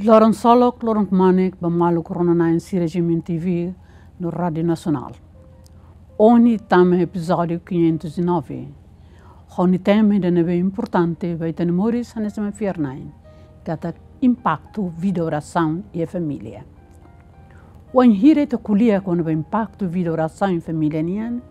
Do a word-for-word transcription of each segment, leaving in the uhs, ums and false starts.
Loron solok, loron kmanek ba maluk rona-na'in sira G M N T V no Rádiu Nasionál. Ohin tama epizódiu quinhentos e nove. Ho nia tema ida ne'ebé importante ba ita-nia moris hanesan ema fiar-na'in, katak impaktu vida orasaun iha família. Wainhira ita ko'alia kona-ba impaktu vida orasaun iha família nian,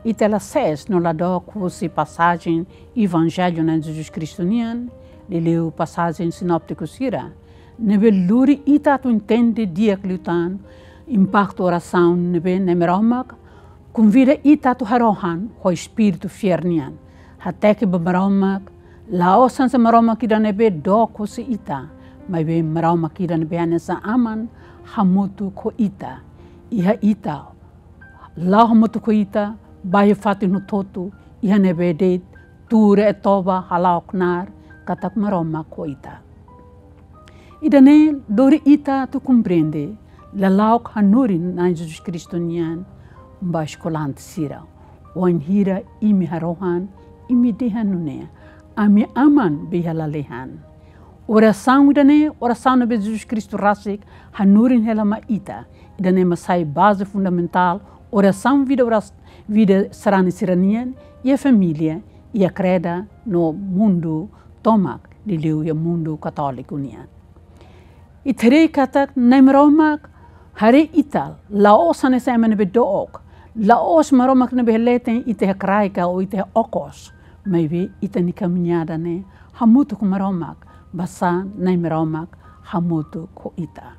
ita la sees no la dook husi pasajen Evanjellu Na'i Jesus Kristu nian, liuliu pasajen sinóptiku sira, ne'ebé lori ita atu entende di'ak liután impaktu orasaun ne'ebé Na'i Maromak konvida ita atu harohan ho espíritu fiar nian. Hateke ba Maromak, la'ós hanesan Maromak ida ne'ebé dook husi ita, maibé Maromak ida ne'ebé hanesan aman hamutuk ho ita. Iha ita, la'o hamutuk ho ita, ba iha fatin hotu-hotu, iha ne'ebé de'it, tuur e toba, hala'o knaar, katak Maromak ho ita. Ida-ne'e lori ita atu komprende lala'ok hanorin Na'i Jesus Kristu nian ba eskolante sira. Wainhira imi harohan, imi dehan nune'e: Ami Aman be iha lalehan. Orasaun ida-ne'e, orasaun ne'ebé Jesus Kristu rasik hanorin hela mai ita. Ida-ne'e mak sai baze fundamentál orasaun vida oras-, vida sarani sira nian, iha família, iha kreda no mundu tomak, liuliu iha mundu katóliku nian. Ita haree katak Na'i Maromak haree ita, la'ós hanesan ema ne'ebé dook, la'ós Maromak ne'ebé leten ita iha kraik ka ita iha okos, maibé ita-nia kamiñada ne'e hamutuk ho Maromak, basá Na'i Maromak hamutuk ho ita.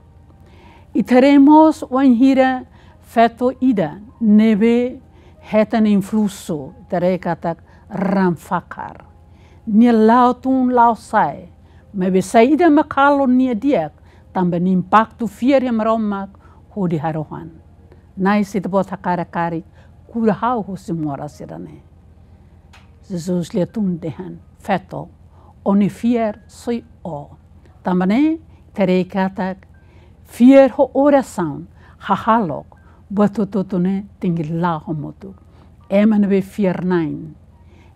Ita haree mós wainhira feto ida ne'ebé hetan influsu, ita haree katak raan fakar. Nia la'o tun la'o sa'e, maibé saida mak halo nia di'ak, tanba nia impaktu fiar iha Maromak hodi harohan: Na'i, se Ita-Boot hakarak karik, kura ha'u husi moras ida-ne'e. Jesus lia tun dehan: Feto, ó-nia fiar soi ó. Tanba ne'e, ita haree katak fiar ho orasaun, hahalok, buat hotu-hotu ne'e tenke la'o hamutuk. Ema ne'ebé fiar-na'in,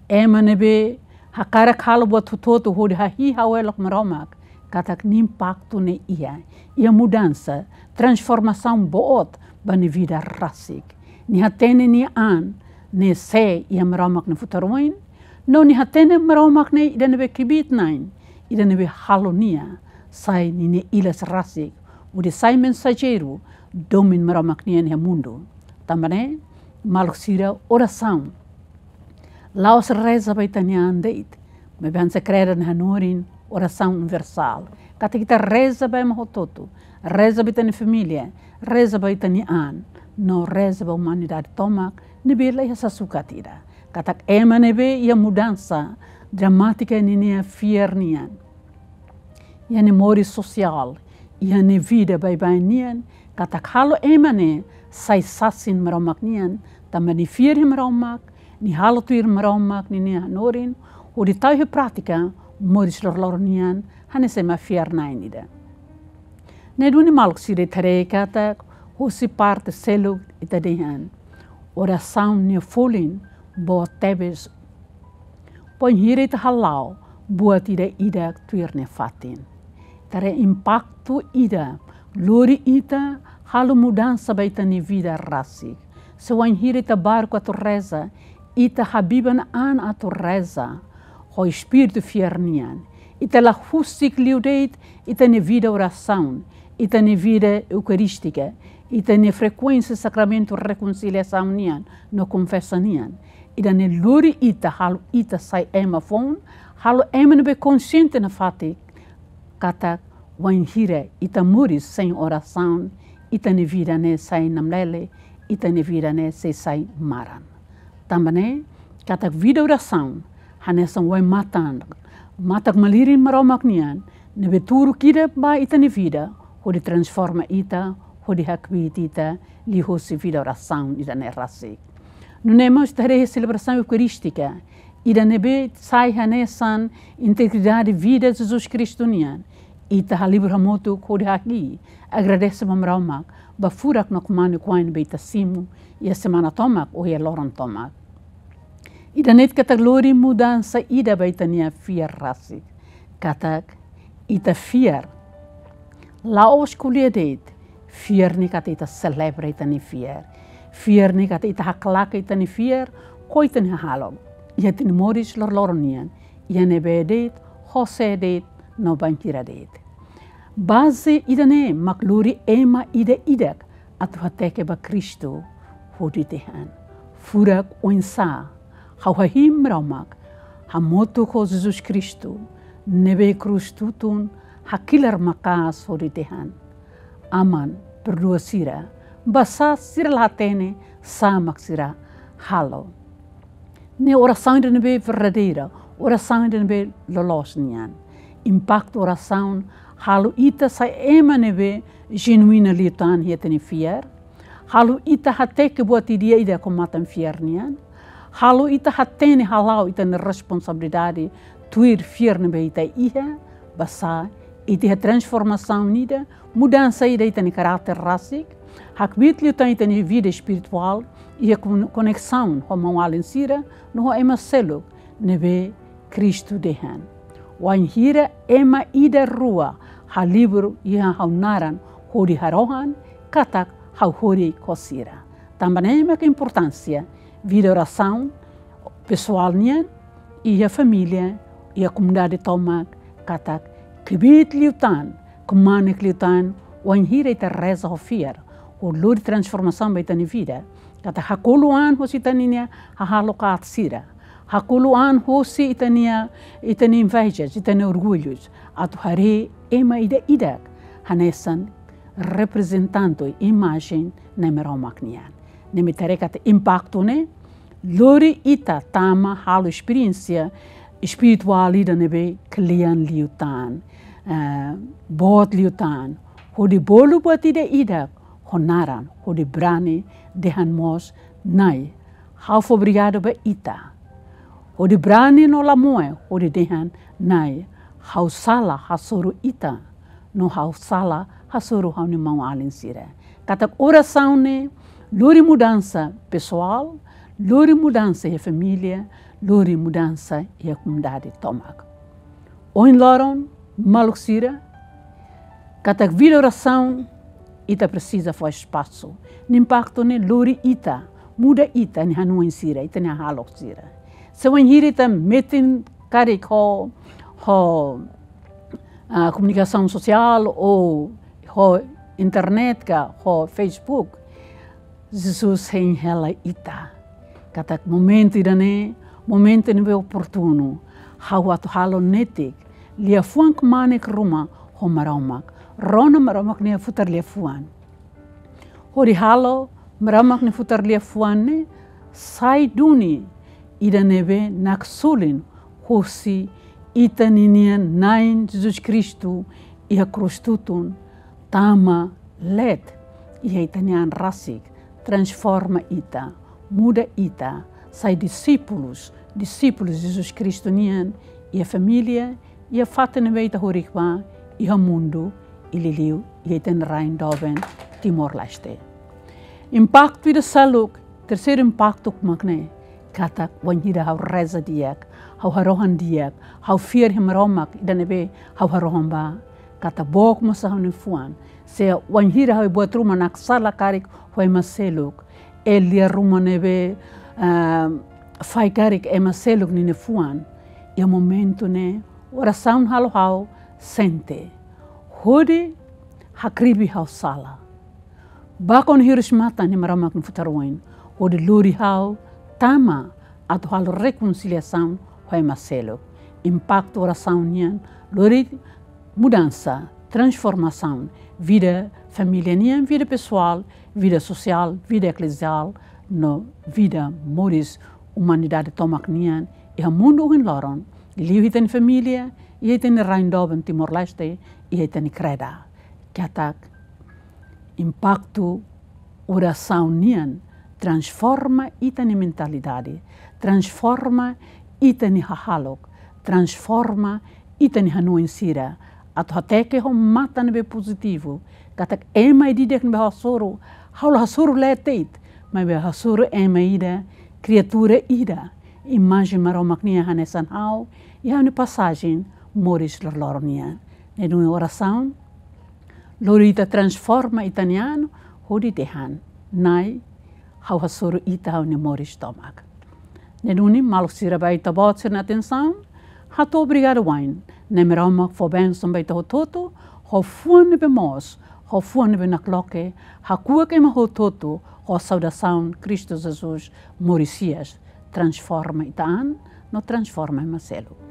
ema ne'ebé hakarak halo buat hotu-hotu hodi hahi'i ha'u-elok Maromak, katak nia impaktu ne'e iha, iha mudansa, transformasaun boot ba nia vida rasik. Nia hatene nia an ne'e sé iha Maromak nia futar oin, no nia hatene Maromak ne'e ida ne'ebé kbiit-na'in, ida ne'ebé halo nia sai ninia ilas rasik, hodi sai mensajeiru domin Maromak nian iha mundu. Tanba ne'e, maluk sira, orasaun la'ós reza ba ita-nia an de'it, maibé hanesan kreda ne'e hanorin, orasaun universál. Katak ita reza ba ema hotu-hotu, reza ba ita-nia família, reza ba ita-nia an, no reza ba umanidade tomak ne'ebé la iha sasukat ida. Katak ema ne'ebé iha mudansa dramátika ninia fiar nian, iha nia moris sosiál, iha nia vida baibain nian, katak halo ema ne'e sai sasin Maromak nian, tanba nia fiar iha Maromak, nia halo tuir Maromak ninia hanorin, hodi tau iha prátika moris loroloron nian hanesan ema fiar-na'in ida. Ne'e duni, maluk sira, ita haree katak husi parte seluk ita dehan: Orasaun nia folin boot tebes bainhira ita hala'o buat ida-idak tuir nia fatin. Ita haree impaktu ida lori ita halo mudansa ba ita-nia vida rasik. Se bainhira ita baruk atu reza, ita habiban an atu reza ho espíritu fiar nian, ita la husik liu de'it ita-nia vida orasaun, ita-nia vida eukarístika, ita-nia frekuénsia sakramentu rekonsiliasaun nian no konfesa nian. Ida-ne'e lori ita, halo ita sai ema foun, halo ema ne'ebé konxiente nafatin katak bainhira ita moris sein orasaun, ita-nia vida ne'e sai namlele, ita-nia vida ne'e sei sai maran. Tanba ne'e, katak vida orasaun hanesan wai-matan, matak-malirin Maromak nian, ne'ebé turuk ida ba ita-nia vida, hodi transforma ita, hodi hakbiit ita liuhusi vida orasaun ida-ne'e rasik. Nune'e mós ita haree selebrasaun eukarístika, ida ne'ebé sai hanesan integridade vida Jesus Kristu nian. Ita halibur hamutuk hodi hahi'i, agradese ba Maromak ba furak no kmanek-oan ne'ebé ita simu iha semana tomak ou iha loron tomak. Ida-ne'e katak lori mudansa ida ba ita-nia fiar rasik. Katak ita fiar La'ós ko'alia de'it, fiar ne'e katak ita selebra ita-nia fiar. Fiar ne'e katak ita haklaken ita-nia fiar ho ita-nia hahalok iha ita-nia moris loroloron nian, iha ne'ebé de'it, ho sé de'it, no bainhira de'it. Baze ida-ne'e mak lori ema ida-idak atu hateke ba Kristu hodi dehan: Furak oinsá ha'u hahi'i Maromak, hamutuk ho Jesus Kristu, ne'ebé iha krús tutun hakilar maka'as hodi dehan: Aman, perdua sira, basá sira la hatene sá mak sira halo. Ne'e orasaun ida ne'ebé verdadeira, orasaun ida ne'ebé loloos nian. Impaktu orasaun halo ita sai ema ne'ebé jenuínu liután iha ita-nia fiar, halo ita hateke buat ida-idak ho matan fiar nian, halo ita hatene hala'o ita-nia responsabilidade tuir fiar ne'ebé ita iha, basá ita iha transformasaun ida, mudansa ida ita-nia karáter rasik, hakbiit liután ita-nia vida espirituál, iha kon-, koneksaun ho maun-alin sira, no ho ema seluk ne'ebé Kristu dehan: Wainhira ema ida rua halibur iha ha'u-nia naran hodi harohan, katak ha'u horik ho sira. Tanba ne'e mak importánsia vida orasaun pesoál nian, iha família, iha komunidade tomak, katak kbiit liután, kmanek liután, wainhira ita reza ho fiar, hodi lori transformasaun ba ita-nia vida. Katak hakolo an hosi ita-nia hahalok aat sira. Hakolo an hosi ita-nia, ita-nia inveja, ita-nia orgullu. Atu haree ema ida-idak hanesan reprezentante, imajen Na'i Maromak nian. Ne'e mak ita haree katak impaktu ne'e lori ita tama halo esperiénsia espirituál ida ne'ebé kle'an liután, eh, boot liután, hodi bolu buat ida-idak ho naran, hodi brani dehan mós: Na'i, ha'u fó obrigadu ba Ita. Hodi brani no la moe, hodi dehan: Na'i, ha'u sala hasoru Ita, no ha'u sala hasoru ha'u-nia maun-alin sira. Katak orasaun ne'e lori mudansa pesoál, lori mudansa iha família, lori mudansa iha komunidade tomak. Ohin loron, maluk sira, katak vida orasaun, ita presiza fó espasu. Nia impaktu ne'e lori ita, muda ita-nia hanoin sira, ita-nia hahalok sira. Se wainhira ita metin karik ho, ho, ah, komunikasaun sosiál ou ho internet ka ho Facebook, Jesus hein hela ita katak momentu ida-ne'e, momentu ne'ebé oportunu, ha'u atu halo netik liafuan kmanek ruma ho Maromak. Rona Maromak nia futar liafuan. Hodi halo Maromak nia futar liafuan ne'e sai duni ida ne'ebé naksolin hosi ita-nia Na'i Jesus Kristu iha krús tutun, tama leet iha ita-nia an rasik, transforma ita, muda ita, sai disípulus, disípulus Jesus Kristu nian, iha família, iha fatin ne'ebé ita horik ba, iha mundu, i liuliu iha ita-nia rain doben Timor-Leste. Impaktu ida seluk, terseiru impaktu mak ne'e, katak wainhira ha'u reza di'ak, ha'u harohan di'ak, ha'u fiar iha Maromak ida ne'ebé ha'u harohan ba, katak book mós ha'u-nia fuan. Se wainhira ha'u buat ruma naksala karik ho ema seluk, lia ruma ne'ebé, ah, faik karik ema seluk nia fuan, iha momentu ne'e orasaun halo ha'u sente hodi hakribi ha'u sala. Bá kona hirus matan iha Maromak nia futar oin, hodi lori ha'u tama atu halo rekonsiliasaun ho ema seluk. Impaktu orasaun nian lori mudansa, transformasaun, vida família nian, vida pesoál, vida sosiál, vida ekleziál, no vida moris umanidade tomak nian, iha mundu ohin loron, liuliu iha ita-nia família, iha ita-nia rain doben Timor-Leste, iha ita-nia kreda. Katak impaktu orasaun nian transforma ita-nia mentalidade, transforma ita-nia hahalok, transforma ita-nia hanoin sira, atu hateke ho matan ne'ebé pozitivu, katak ema ida-idak ne'ebé ha'u hasoru, ha'u la hasoru leet de'it, maibé ha'u hasoru ema ida, kriatura ida, imajen Maromak nian hanesan ha'u, iha ha'u-nia pasajen moris loroloron nian. Ne'e duni orasaun Lori ita transforma ita-nia an hodi dehan: Na'i, ha'u hasoru Ita ha'u-nia moris tomak. Ne'e duni, maluk sira, ba Ita-Boot sira-nia atensaun, hato'o obrigadu wa'in. Na'i Maromak fó bensaun ba ita hotu-hotu, ho fuan ne'ebé moos, ho fuan ne'ebé nakloke, hakuak ema hotu-hotu ho saudasaun Kristu Jesus moris hi'as, transforma ita an no transforma ema seluk.